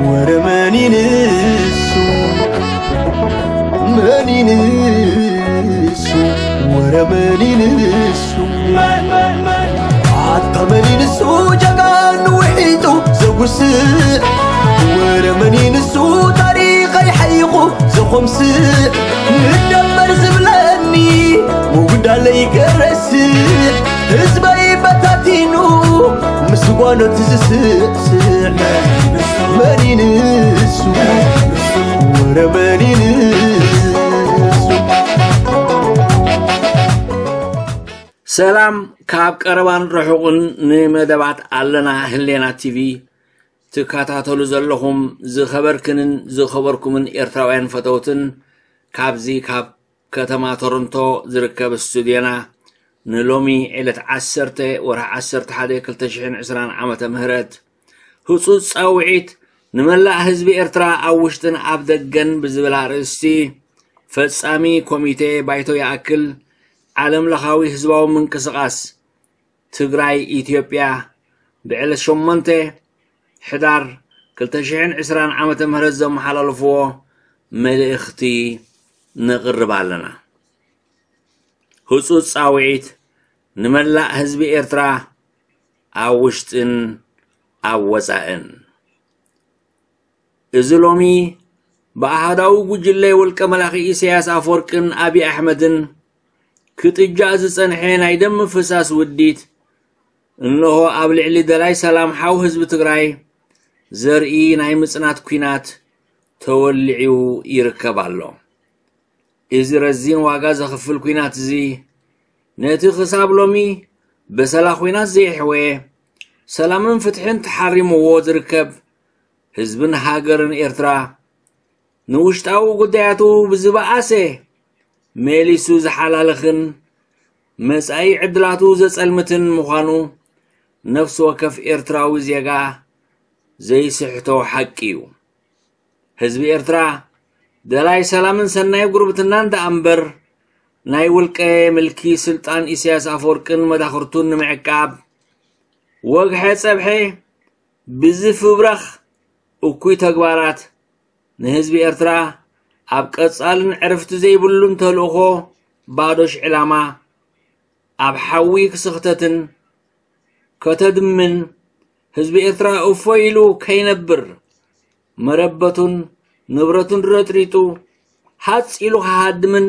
ወረ መን ይንሱ፣ መን ይንሱ፣ ወረ መን ይንሱ፣ ኣታ መን ይንሱ፣ ጀጋኑ ውሒጡ ዘጉስዕ፣ ወረ መን ይንሱ፣ ታሪኸይ ሓይኹ ዘኾምስዕ፣ ንደመር ዝብለኒ፣ ምጉዳለይ ከረስዕ፣ ህዝበይ በታቲኑ፣ ምስ ጓኖት ዝስዕስዕ፣ መን ይንሱ፣ ወረ መን ይንሱ። ሰላም ካብ ቀረባን ርሑቕን ንመደባት ኣለና ህሌና ቲቪ ትከታተሉ ዘለኹም ዝኸበርክንን ዝኸበርኩምን ኤርትራውያን ፈተውትን፣ ካብዚ ካብ ከተማ ቶሮንቶ ዝርከብ ስቱድዮና ንሎሚ ዕለት ዓሰርተ ወርሒ ዓሰርተ ሓደ ክልተ ሽሕን ዕስራን ዓመተ ምህረት ህጹጽ ጻውዒት ንመላእ ህዝቢ ኤርትራ ኣብ ውሽጥን ኣብ ደገን ብዝብል ኣርእስቲ ፈጻሚ ኮሚቴ ባይቶ ይኣክል ዓለም ለኻዊ ህዝባዊ ምንቅስቓስ ትግራይ ኢትዮጵያ ብዕለት ሸሞንተ ሕዳር ክልተ ሽሕን ዕስራን ዓመተ ምህረት ዘመሓላለፍዎ መልእኽቲ ነቕርብ ኣለና። ህጹጽ ጻውዒት ንመላእ ህዝቢ ኤርትራ ኣብ ውሽጥን ኣብ ወጻእን። እዚ ሎሚ ብኣሃዳዊ ጉጅለ ውልቀ መላኺ ኢሳያስ ኣፈወርቅን ኣብይ ኣሕመድን ክጥጃእ ዝጸንሐ ናይ ደም ምፍሳስ ውዲት፣ እንሆ ኣብ ልዕሊ ደላይ ሰላም ሓው ህዝቢ ትግራይ ዘርኢ ናይ ምጽናት ኲናት ተወሊዑ ይርከብ ኣሎ። እዚ ረዚን ዋጋ ዘኽፍል ኲናት እዚ፣ ነቲ ክሳብ ሎሚ በሰላ ኲናት ዘየሕወየ፣ ሰላምን ፍትሕን ተሓሪምዎ ዝርከብ ህዝብን ሃገርን ኤርትራ፣ ንውሽጣዊ ጉዳያቱ ብዝበኣሰ መሊሱ ዝሓላልኽን መጻኢ ዕድላቱ ዘጸልምትን ምዃኑ ነፍሲ ወከፍ ኤርትራዊ ዜጋ ዘይስሕቶ ሓቂ እዩ። ህዝቢ ኤርትራ ደላይ ሰላምን ሰናይ ጉርብትናን ደኣ እምበር፣ ናይ ውልቀ ምልኪ ስልጣን ኢሳያስ ኣፈወርቅን መዳኽርቱን ንምዕቃብ፣ ወግሐ ጸብሐ ብዝፍብረኽ እኩይ ተግባራት፣ ንህዝቢ ኤርትራ ኣብ ቀጻልን ዕርፍቲ ዘይብሉን ተልእኾ ባዶሽ ዕላማ፣ ኣብ ሓዊ ክስኽተትን ከተድምን፣ ህዝቢ ኤርትራ እፎይ ኢሉ ከይነብር፣ መረበቱን ንብረቱን ረጥሪጡ፣ ሃጽ ኢሉ ክሃድምን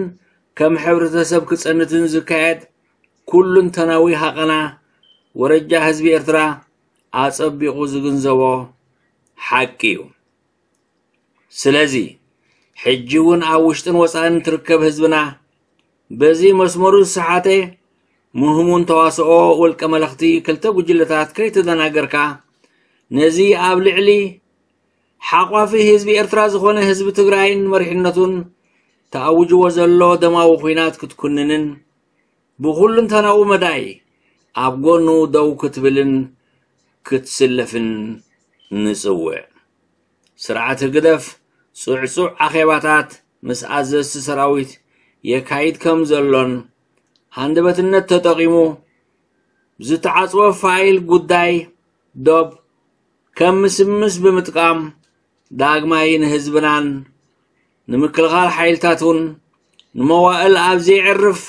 ከም ሕብረተሰብ ክጸንትን ዝካየድ ኩሉንተናዊ ሃቐና፣ ወረጃ ህዝቢ ኤርትራ ኣጸቢቑ ዝግንዘቦ ሓቂ እዩ። ስለዚ፣ ሕጂ እውን ኣብ ውሽጥን ወጻእን ትርከብ ህዝብና፣ በዚ መስመሩ ዝሰሓተ ምህሙን ተዋስኦ ውልቀ መለኽቲ ክልተ ጉጅለታት ከይተደናገርካ፣ ነዚ ኣብ ልዕሊ ሓቋፊ ህዝቢ ኤርትራ ዝኾነ ህዝቢ ትግራይን መሪሕነቱን ተኣውጅዎ ዘሎ ደማዊ ኲናት ክትኩንንን፣ ብኹሉንተናዊ መዳይ ኣብ ጎኑ ደው ክትብልን ክትስለፍን ንጽውዕ። ስርዓት ህግደፍ ጽዕጹዕ ኣኼባታት ምስ ኣዘዝቲ ሰራዊት የካይድ ከም ዘሎን፣ ሃንደበትነት ተጠቒሙ ዝተዓጽወ ፋይል ጉዳይ ዶብ ከም ምስምስ ብምጥቃም፣ ዳግማይ ንህዝብናን ንምክልኻል ሓይልታቱን ንመዋእል ኣብ ዘየዕርፍ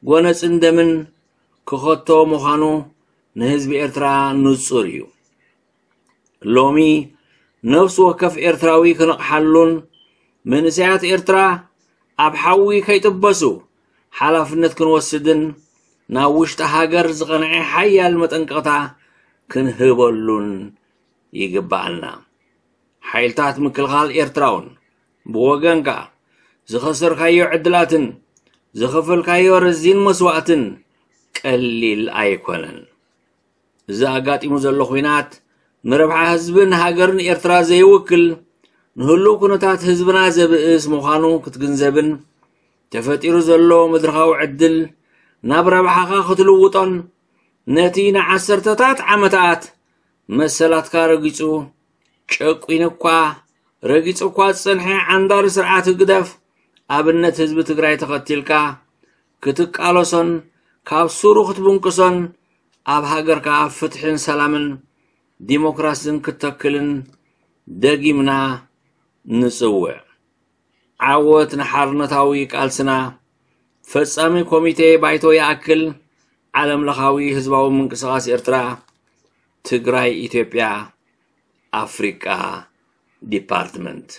ጎነጽን ደምን ክኸቶ ምዃኑ ንህዝቢ ኤርትራ ንጹር እዩ። ሎሚ ነፍሲ ወከፍ ኤርትራዊ ክንቕሓሉን መንእሰያት ኤርትራ ኣብ ሓዊ ከይጥበሱ ሓላፍነት ክንወስድን ናብ ውሽጢ ሃገር ዝቐንዐ ሓያል መጠንቀቕታ ክንህበሉን ይግብኣና። ሓይልታት ምክልኻል ኤርትራውን ብወገንካ ዝኸሰርካዮ ዕድላትን ዝኸፈልካዮ ረዚን መስዋእትን ቀሊል ኣይኮነን። እዚ ኣጋጢሙ ዘሎ ኹናት ንረብሓ ህዝብን ሃገርን ኤርትራ ዘይውክል፣ ንህሉው ኩነታት ህዝብና ዘብእስ ምዃኑ ክትግንዘብን፣ ተፈጢሩ ዘሎ መድረኻዊ ዕድል ናብ ረብሓኻ ክትልውጦን፣ ነቲ ንዓሰርተታት ዓመታት መሰላትካ ረጊጹ፣ ጨቂኑ እኳ ረጊጹ እኳ ዝጸንሐ ዓንዳሪ ስርዓት ህግደፍ ኣብነት ህዝቢ ትግራይ ተኸቲልካ ክትቃለሶን ካብ ሱሩ ክትብንቅሶን ኣብ ሃገርካ ፍትሕን ሰላምን ዲሞክራስን ክተክልን ደጊምና ንጽውዕ። ዓወት ንሓርነታዊ ቃልስና። ፈጻሚ ኮሚቴ ባይቶ ይኣክል። ዓለም ለኻዊ ህዝባዊ ምንቅስቓስ ኤርትራ፣ ትግራይ፣ ኢትዮጵያ፣ ኣፍሪቃ ዲፓርትመንት።